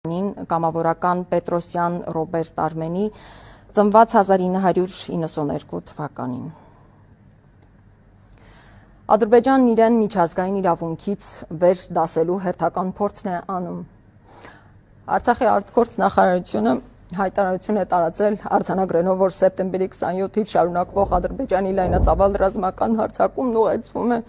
Կամավորական Պետրոսյան Ռոբերտ Արմենի ծնված 1992 թվականին։ Ադրբեջանն իրեն միջազգային իրավունքից վեր դասելու հերթական փորձն է անում։ Արցախի արտգործ նախարարությունը հայտարարություն է տարածել արձանագրելով, որ սեպտեմբերի 27-ից շարունակվող Ադրբեջանի լայնածավալ ռազմական հարձակումն ուղեկցվում է